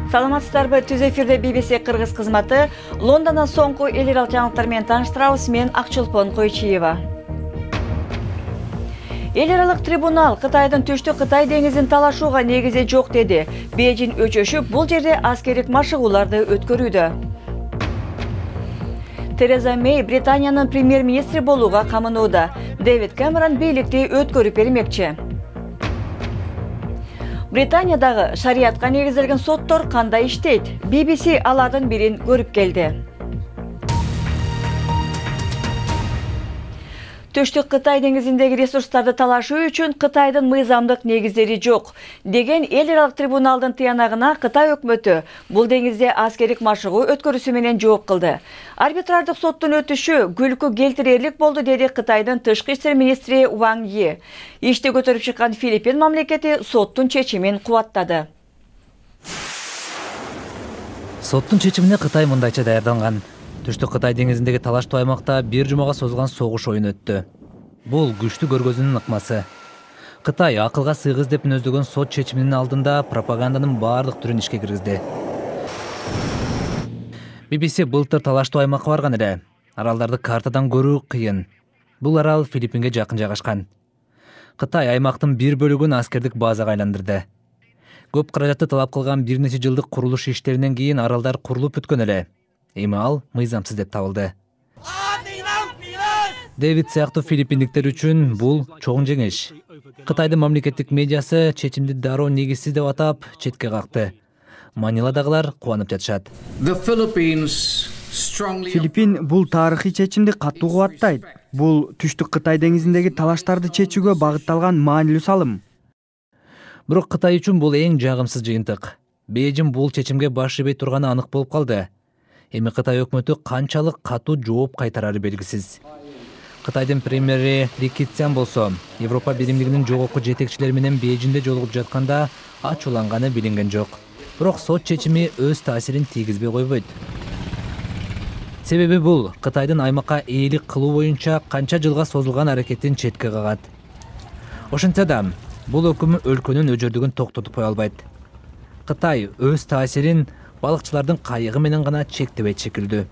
Саламатсыздарбы, түз эфирде BBC Кыргыз кызматы. Лондондон соңку эл аралык жаңылыктар менен тааныштырабыз. Мен Акчолпон Койчиева. Эл аралык трибунал Кытайдын түштүк Кытай деңизин талашууга негизи жок деди. Бейжин өчөшүп, бул жерде аскердик машыгууларды өткөрүүдө. Тереза Мэй Британиянын премьер-министри болууга камынууда. Дэвид Кэмерон бийликти өткөрүп бермекчи. Британиядагы шариатка негизделген соттор кандай иштейт? BBC алардын бирин көрүп келди. Түштүк Кытай деңизиндеги ресурстарды талашуу үчүн Кытайдын мыйзамдык негиздери жок деген эл аралык трибуналдын тыянагына Кытай өкмөтү бул деңизде аскердик машыгуу өткөрүүсү менен жооп кылды. Арбитрардык соттун өтүшү күлкү келтирерлик болду, деди Кытайдын тышкы иштер министри Ван Yi. Ишти көтөрүп чыккан Филиппин мамлекети соттун чечимин кубаттады. Соттун чечимине Кытай мындайча даярданган. Түштүк Кытай деңизиндеги талаштуу аймакта бир жумага созулган согуш оюн өттү. Бул күчтүү көргөзүүнүн ыкмасы. Кытай акылга сыйгыз деп мүнөздөгөн сот чечиминин алдында пропаганданын баардык түрүн ишке киргизди. BBC былтыр талаштуу аймакка барган эле. Аралдарды картадан көрүү кыйын. Бул арал Филиппинге жакын жайгашкан. Кытай аймактын бир бөлүгүн аскердик базага айландырды. Көп каражатты талап кылган бир нече жылдык курулуш иштеринен кийин аралдар курулуп бүткөн эле. Эми ал мыйзамсыз деп табылды. Дэвид сыяктуу филиппиндиктер үчүн бул чоң жеңиш. Кытайдын мамлекеттик медиасы чечимди дароо негизсиз деп атап четке какты. Маниладагылар кубанып жатышат. Филиппин бул тарыхый чечимди катуу кубаттайт. Бул түштүк Кытай деңизиндеги талаштарды чечүүгө багытталган маанилүү салым. Бирок Кытай үчүн бул эң жагымсыз жыйынтык. Бейжин бул чечимге баш ийбей турганы анык болуп калды. Эми Кытай өкмөтү канчалык катуу жооп кайтарары белгисиз. Кытайдын премьери Ли Кэцян болсо, Европа биримдигинин жогорку жетекчилери менен Бейжинде жолугуп жатканда ачууланганы билинген жок. Бирок сот чечими өз таасирин тийгизбей койбойт. Себеби бул Кытайдын аймакка ээлик кылуу боюнча канча жылга созулган аракетин четке кагат. Ошентсе да, бул өкүм өлкөнүн өжөрдүгүн токтотуп кое албайт. Кытай өз таасирин балыкчылардын кайыгы менен гана чектебейт шекилдүү.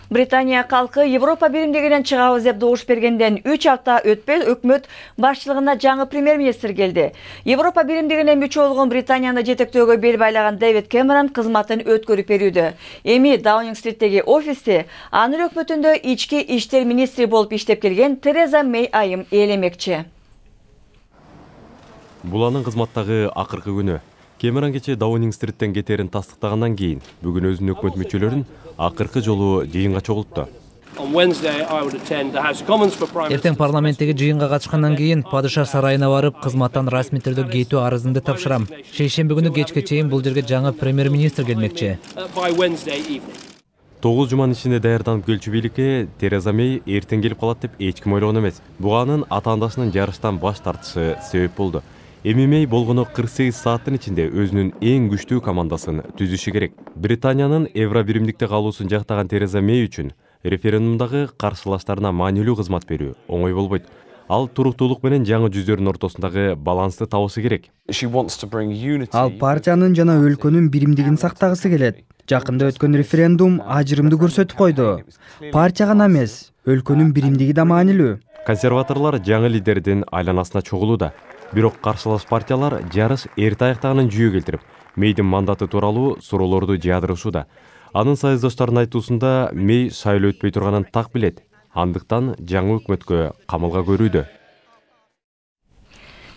Британия калкы Европа биримдигинен чыгабыз деп добуш бергенден 3 апта өтпөй өкмөт башчылыгына жаңы премьер-министр келди. Европа биримдигине мүчө болгон Британияны жетектөөгө бел байлаган Дэвид Кэмерон кызматын өткөрүп берүүдө. Эми Даунинг-стриттеги офисте анын өкмөтүндө ички иштер министри болуп иштеп келген Тереза Мэй айым ээлемекчи. Бул анын кызматтагы акыркы күнү. Кэмерон кече Даунинг-стриттен кетерин тастыктагандан кийин бүгүн өзүнүн өкмөт мүчөлөрүн акыркы жолу жыйынга чогултту. Эртең парламенттеги жыйынга катышкандан кийин падыша сарайына барып, кызматтан расмий түрдө кетүү арызымды тапшырам. Шейшемби күнү кечке чейин бул жерге жаңы премьер-министр келмекчи. 9 жуманын ичинде даярданып келчү бийликке Тереза Мэй эртең келип калат деп эч ким ойлогон эмес. Буга анын ата-андасынын жарыштан баш тартышы себеп болду. Эми Мэй болгону 48 сааттын ичинде өзүнүн эң күчтүү командасын түзүшү керек. Британиянын Евро биримдикте калуусун жактаган Тереза Мэй үчүн референдумдагы каршылаштарына маанилүү кызмат берүү оңой болбойт. Ал туруктуулук менен жаңы жүздөрдүн ортосундагы балансты табышы керек. Ал партиянын жана өлкөнүн биримдигин сактагысы келет. Жакында өткөн референдум ажырымды көрсөтүп койду. Партия гана эмес, өлкөнүн биримдиги да маанилүү. Консерваторлор жаңы лидердин айланасына чогулууда. Бирок каршылаш партиялар жарыш эрте аяктаганын жүйө келтирип, Мэйдин мандаты тууралуу суроолорду жаадырышууда. Анын союздаштарынын айтуусунда Мэй шайлоо өтпөй турганын так билет. Андыктан жаңы өкмөткө камылга көрүүдө.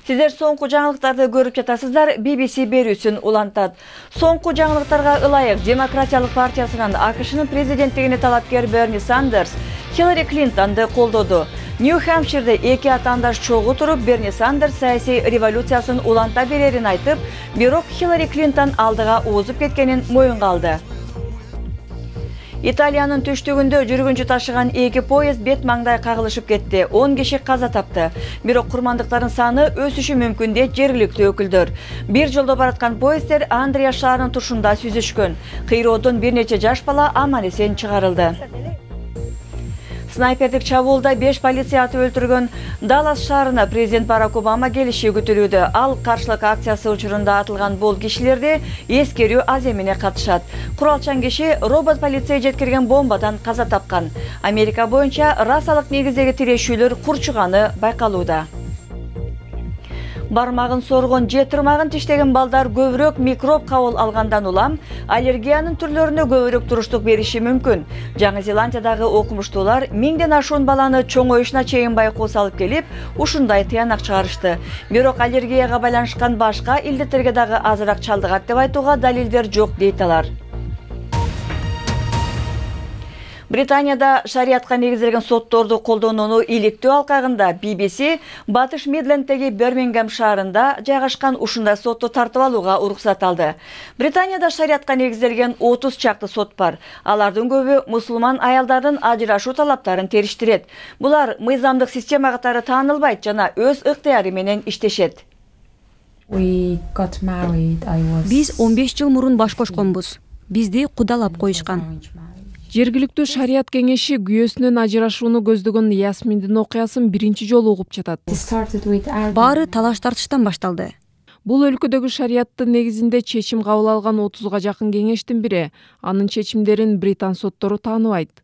Сиздер соңку жаңылыктарды көрүп жатасыздар. BBC берүүсүн улантат. Соңку жаңылыктарга ылайык Демократиялык партиясынын АКШнын президенттигине талапкер Берни Сандерс Хиллари Клинтонду колдоду. Нью-Хэмпширде эки атаандаш чогуу туруп, Берни Сандерс саясий революциясын уланта берерин айтып, бирок Хиллари Клинтон алдыга уузуп кеткенин моюнга алды. Италиянын түштүгүндө жүргүнчү ташыган эки поезд бет маңдай кагылышып кетти. 10 киши каза тапты. Бирок курмандыктардын саны өсүшү мүмкүн дейт жергиликтүү өкүлдөр. Бир жолдо бараткан поезддер Андреа шаарынын тушунда сүзүшкөн. Кыйроодон бир нече жаш бала аман эсен чыгарылды. Снайпердик чабуулда 5 полиция атып өлтүргөн Даллас шаарына президент Барак Обама келиши күтүлүүдө. Ал каршылык акциясы учурунда атылган бул кишилерди эскерүү аз эмне катышат. Куралчан киши робот полиция жеткирген бомбадан каза тапкан. Америка боюнча расалык негиздеги тирешүүлөр курчуганы байкалууда. Бармагын соргон же тырмагын тиштеген балдар көбүрөөк микроб кабыл алгандан улам аллергиянын түрлөрүнө көбүрөөк туруштук бериши мүмкүн. Жаңы Зеландиядагы окумуштуулар 1000ден ашуун баланы чоңоюшуна чейин байкоо салып келип, ушундай тыянак чыгарышты. Бирок аллергияга байланышкан башка илдеттерге дагы азыраак чалдыгат деп айтууга далилдер жок дейт алар. Британияда шариятка негизделген сотторду колдонууну иликтөө алкагында BBC Батыш Мидленддеги Бирмингем шаарында жайгашкан ушундай сотто тартып алууга уруксат алды. Британияда шариятка негизделген 30 чакты сот бар. Алардын көбү мусулман аялдардын ажырашуу талаптарын териштирет. Булар мыйзамдык система катары таанылбайт жана өз ыктыяры менен иштешет. Биз 15 жыл мурун баш кошконбуз. Бизди кудалап коюшкан. Жергиликтүү шарият кеңеши күйөөсүнөн ажырашууну көздөгөн Ясминдин окуясын биринчи жолу угуп жатат. Баары талаш тартыштан башталды. Бул өлкөдөгү шарияттын негизинде чечим кабыл алган 30га жакын кеңештин бири. Анын чечимдерин британ соттору тааныбайт.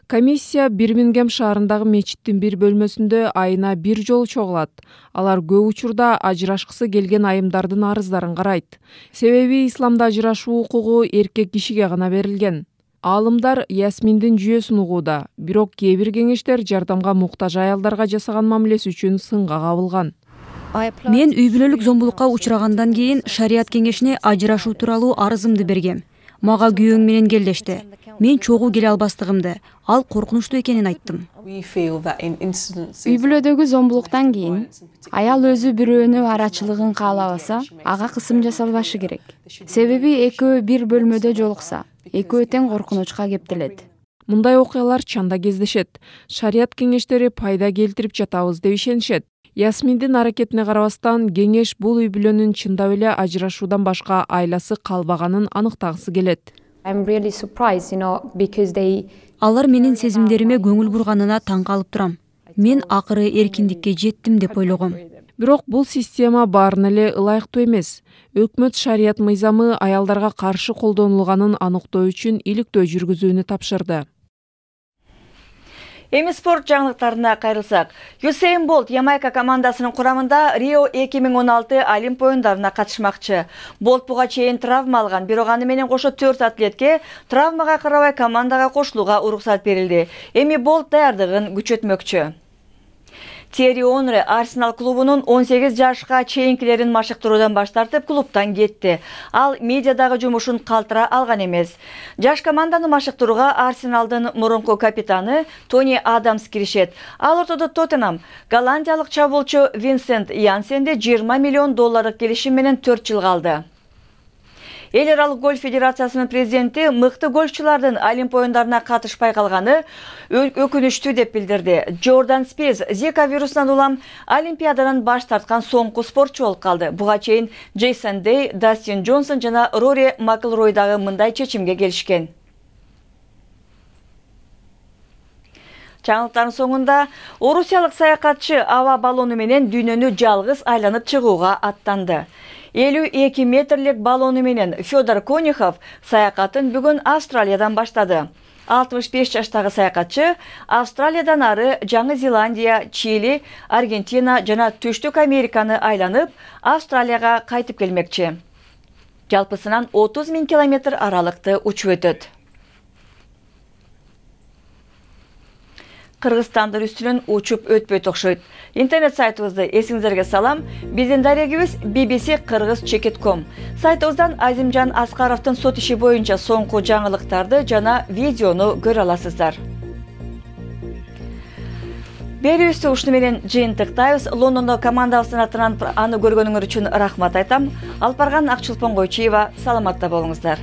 Комиссия Бирмингем шаарындагы мечиттин бир бөлмөсүндө айына 1 жолу чогулат. Алар көп учурда ажырашкысы келген айымдардын арыздарын карайт. Себеби исламда ажырашуу укугу эркек кишиге гана берилген. Аалымдар Ясминдин жүйөсүн угууда, бирок кээ бир кеңештер жардамга муктаж аялдарга жасаган мамилеси үчүн сынга кабылган. Мен үй бүлөлүк зомбулукка учурагандан кийин шарият кеңешине ажырашуу тууралуу арызымды бергем. Мага күйөөң менен келдешти. Мен чогуу келе албастыгымды, ал коркунучтуу экенин айттым. Үй бүлөдөгү зомбулуктан кийин аял өзү бирөөнү арачылыгын каалабаса, ага кысым жасалбашы керек. Себеби экөө бир бөлмөдө жолукса, экөө тең коркунучка кептелет. Мындай окуялар чанда кездешет. Шарият кеңештери пайда келтирип жатабыз деп ишенишет. Ясминдин аракетине карабастан кеңеш бул үй бүлөнүн чындап эле ажырашуудан башка айласы калбаганын аныктагысы келет. Алар менин сезимдериме көңүл бурганына таң калып турам. Мен акыры эркиндикке жеттим деп ойлогом. Бирок бул система баарына эле ылайыктуу эмес. Өкмөт шарият мыйзамы аялдарга каршы колдонулганын аныктоо үчүн иликтөө жүргүзүүнү тапшырды. Эми спорт жаңылыктарына кайрылсак, Юсейн Болт Ямайка командасынын курамында Рио 2016 Олимп оюндарына катышмакчы. Болт буга чейин травма алган, бирок аны менен кошо 4 атлетке травмага карабай командага кошулууга уруксат берилди. Эми Болт даярдыгын күчөтмөкчү. Терри Онре Арсенал клубунун 18 жашка чейинкилерин машыктыруудан баш тартып клубтан кетти. Ал медиадагы жумушун калтыра алган эмес. Жаш команданы машыктырууга Арсеналдын мурунку капитаны Тони Адамс киришет. Ал ортодо Тоттенхам голландиялык чабуулчу Винсент Янсенди $20 миллион келишим менен 4 жыл калды. Эл аралык гольф федерациясынын президенти мыкты гольфчулардын Олимп оюндарына катышпай калганы өкүнүчтүү деп билдирди. Джордан Спейс Зика вирусунан улам Олимпиададан баш тарткан соңку спортчу болуп калды. Буга чейин Джейсон Дей, Дастин Джонсон жана Рори Маклрой дагы мындай чечимге келишкен. Жаңылыктардын соңунда орусиялык саякатчы аба баллону менен дүйнөнү жалгыз айланып чыгууга аттанды. 52 метрлик баллону менен Федор Конюхов саякатын бүгүн Австралиядан баштады. 65 жаштагы саякатчы Австралиядан ары Жаңы Зеландия, Чили, Аргентина жана Түштүк Американы айланып, Австралияга кайтып келмекчи. Жалпысынан 30 000 километр аралыкты учуп өтөт. Кыргызстандын үстүнөн учуп өтпөйт окшойт. Интернет сайтыбызды эсиңиздерге салам. Биздин дарегибиз bbc-kыргыз.com. Сайтыбыздан Азимжан Аскаровдун сот иши боюнча соңку жаңылыктарды жана видеону көрө аласыздар. Берүүбүздү ушуну менен жыйынтыктайбыз. Лондондо командабыздын атынан аны көргөнүңөр үчүн рахмат айтам. Алпарган Акчулпон Койчиева, саламатта болуңуздар.